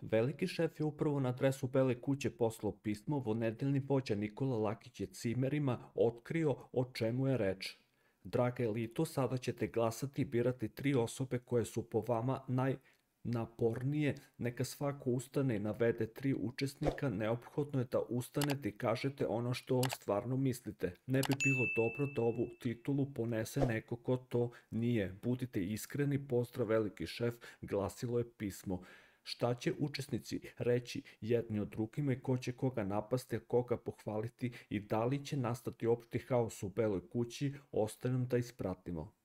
Veliki šef je upravo na adresu Bele kuće poslao pismo, vonedeljni vođa Nikola Lakić je cimerima otkrio o čemu je reč. Draga elito, sada ćete glasati i birati 3 osobe koje su po vama najnapornije. Neka svako ustane i navede 3 učesnika. Neophodno je da ustanete i kažete ono što stvarno mislite. Ne bi bilo dobro da ovu titulu ponese neko ko to nije. Budite iskreni, pozdrav veliki šef, glasilo je pismo. Šta će učesnici reći jedni o drugima i ko će koga napasti, a koga pohvaliti i da li će nastati opšti haos u Beloj kući, ostaje nam da ispratimo.